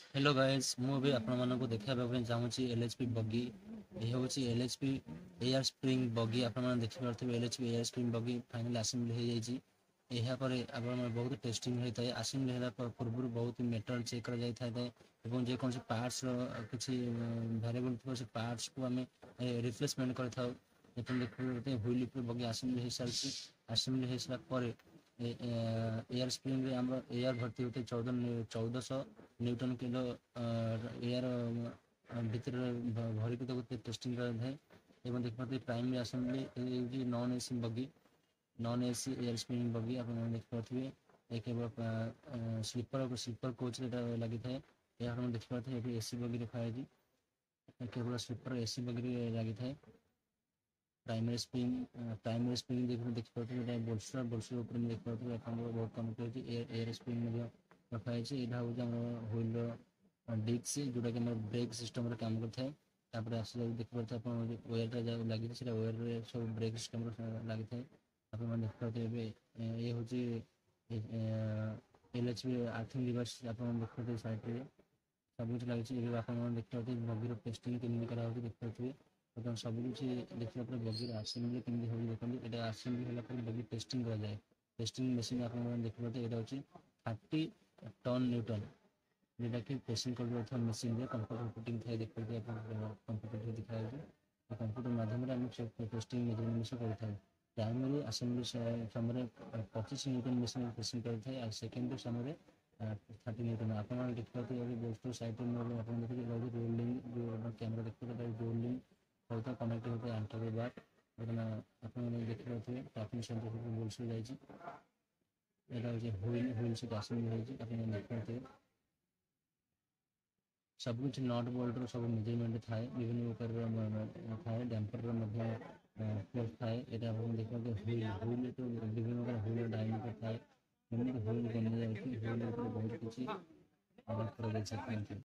Hello guys, ମୁଁ ଏବେ ଆପଣମାନଙ୍କୁ ଦେଖାଇବା ପାଇଁ ଚାହୁଁଛି ଏଲ୍ ଏଚ୍ ପି ବଗି। ଏ ହେଉଛି L H P air spring bogie. ଆପଣମାନେ ଦେଖିପାରୁଥିବେ, L H P air spring bogie final assembly ହେଇଯାଇଛି। ଏହାପରେ ଆପଣଙ୍କର ବହୁତ ଟେଷ୍ଟିଂ ହୋଇଥାଏ। ଆସେମ୍ବଲି ହେଲା ପୂର୍ବରୁ ବହୁତ ମେଟେରିଆଲ ଚେକ୍ କରାଯାଇଥାଏ ଏବଂ ଯେକୌଣସି ପାର୍ଟସର କିଛି ଭ୍ୟାରିଏବଲ୍ ଥିବ, ସେ ପାର୍ଟସକୁ ଆମେ ରିପ୍ଲେସମେଣ୍ଟ କରିଥାଉ। ଆପଣ ଦେଖିପାରୁଥିବେ, ହୁଇଲ୍ ଉପରେ ବଗି ଆସେମ୍ବଲି ହେଇସାରିଛି। ଆସେମ୍ବଲି ହେଇସାରିଲା ପରେ ଏୟାର ସ୍ପ୍ରିଙ୍ଗରେ ଆମର ଏୟାର ଭର୍ତ୍ତି ହୋଇଥାଏ। 1400 ନ୍ୟୁଟନ କିଲୋ ଏୟାର ଭିତରେ ଭରିକି ତାକୁ ଟେଷ୍ଟିଂ କରାଯାଇଥାଏ। ଏବଂ ଦେଖିପାରୁଥିବେ, ପ୍ରାଇମେରୀ ଆସେମ୍ବଲି ହେଉଛି non AC bogie, non AC air spring bogie. ଆପଣମାନେ ଦେଖିପାରୁଥିବେ, ଏ କେବଳ ସ୍ଲିପର କୋଚରେ ଏଇଟା ଲାଗିଥାଏ। ଏହା ଆପଣ ଦେଖିପାରୁଥିବେ, ଏଠି ଏସି ବଗି ରଖାଯାଇଛି। କେବଳ ସ୍ଲିପର ଏସି ବଗିରେ ଲାଗିଥାଏ। ପ୍ରାଇମେରୀ ସ୍ପ୍ରିଙ୍ଗ ଦେଖିପାରୁଥିବେ, ଏଇଟା ବୋଲଷ୍ଟର। ବୋଲଷ୍ଟର ଉପରେ ଦେଖିପାରୁଥିବେ, ଆପଣଙ୍କର ବହୁତ କନେକ୍ଟ ହେଉଛି। ଏୟାର ସ୍ପ୍ରିଙ୍ଗ ମଧ୍ୟ ରଖାଯାଇଛି। ଏଇଟା ହେଉଛି ଆମର ହୁଇଲର ଡିସ୍କ, ଯୋଉଟାକି ଆମର ବ୍ରେକ୍ ସିଷ୍ଟମରେ କାମ କରିଥାଏ। ତାପରେ ଆସିଲା ଦେଖିପାରୁଥିବେ ଆପଣ, ୱେୟାରଟା ଯାହା ଲାଗିଛି, ସେଇଟା ୱେୟାରରେ ସବୁ ବ୍ରେକ୍ ସିଷ୍ଟମରେ ଲାଗିଥାଏ। ଆପଣମାନେ ଦେଖିପାରୁଥିବେ, ଏବେ ଇଏ ହେଉଛି L H P earthing reverse. ଆପଣ ଦେଖିପାରୁଥିବେ, ସାଇଡ଼ରେ ସବୁ କିଛି ଲାଗିଛି। ଏବେ ଆପଣମାନେ ଦେଖିପାରୁଥିବେ, ବଗିର ଟେଷ୍ଟିଂ କେମିତି କରାହେଉଛି ଦେଖିପାରୁଥିବେ। ବର୍ତ୍ତମାନ ସବୁ କିଛି ଦେଖିଲା ପରେ ବଗିର ଆସେମ୍ବଲି କେମିତି ହେଉଛି ଦେଖନ୍ତୁ। ଏଇଟା ଆସେମ୍ବଲି ହେଲା ପରେ ବଗି ଟେଷ୍ଟିଂ କରାଯାଏ। ଟେଷ୍ଟିଂ ମେସିନ୍ ଆପଣମାନେ ଦେଖିପାରୁଥିବେ, ଏଇଟା ହେଉଛି 30 ଟନ୍ ନ୍ୟୁଟନ୍, ଯେଉଁଟାକି ପ୍ରେସିଂ କରୁଥିବା ମେସିନ୍ରେ କମ୍ପ୍ୟୁଟର ଫିଟିଂ ଥାଏ। ଦେଖିପାରୁଥିବେ ଆପଣ, କମ୍ପ୍ୟୁଟର ଦେଖାଯାଉଛି। କମ୍ପ୍ୟୁଟର ମାଧ୍ୟମରେ ଆମେ ଟେଷ୍ଟିଂ ମେଜରମେଣ୍ଟ କରିଥାଉ। ପ୍ରାଇମେରୀ ଆସେମ୍ବଲି ସମୟରେ 25 ନ୍ୟୁଟନ୍ ମେସିନ୍ ପ୍ରେସିଂ କରିଥାଏ ଆଉ ସେକେଣ୍ଡାରୀ ସମୟରେ 30 ନ୍ୟୁଟନ୍। ଆପଣମାନେ ଦେଖିପାରୁଥିବେ, ଏବେ ବୋଲଷ୍ଟର ସାଇଡ଼ରେ ଆପଣ ଦେଖିବେ, ଏଇଟା ହେଉଛି ରୋଲିଂ। ଯେଉଁ କ୍ୟାମେରା ଦେଖିପାରୁଥିବେ, ରୋଲିଂ ସହିତ କନେକ୍ଟ ହୋଇଥାଏ ଆଣ୍ଟର ବାର। ବର୍ତ୍ତମାନ ଆପଣମାନେ ଦେଖିପାରୁଥିବେ, ଟ୍ରାଫିକ୍ ସେଣ୍ଟର ବୋଲଷ୍ଟର ଯାଇଛି। ଏଇଟା ହେଉଛି ହୁଇଲ୍। ହୁଇଲ୍ ସହିତ ଆସେମ୍ବଲି ହେଇଛି। ଆପଣମାନେ ଦେଖିପାରୁଥିବେ, ସବୁ କିଛି not ବୋଲ୍ଟର ସବୁ ମେଜରମେଣ୍ଟ ଥାଏ, ବିଭିନ୍ନ ପ୍ରକାରର ଥାଏ। ଡ୍ୟାମ୍ପରର ମଧ୍ୟ ଫୋର୍ସ ଥାଏ। ଏଇଟା ଆପଣ ଦେଖିପାରୁଥିବେ, ହୁଇଲ୍। ହୁଇଲ୍ ତ ବିଭିନ୍ନ ପ୍ରକାର ହୁଇଲ୍ ଡାଇମିଟର ଥାଏ। କେମିତି ହୁଇଲ୍ ବନାଯାଉଛି, ହୁଇଲ୍ ଉପରେ ବହୁତ କିଛି କରାଯାଇଛି। Thank you.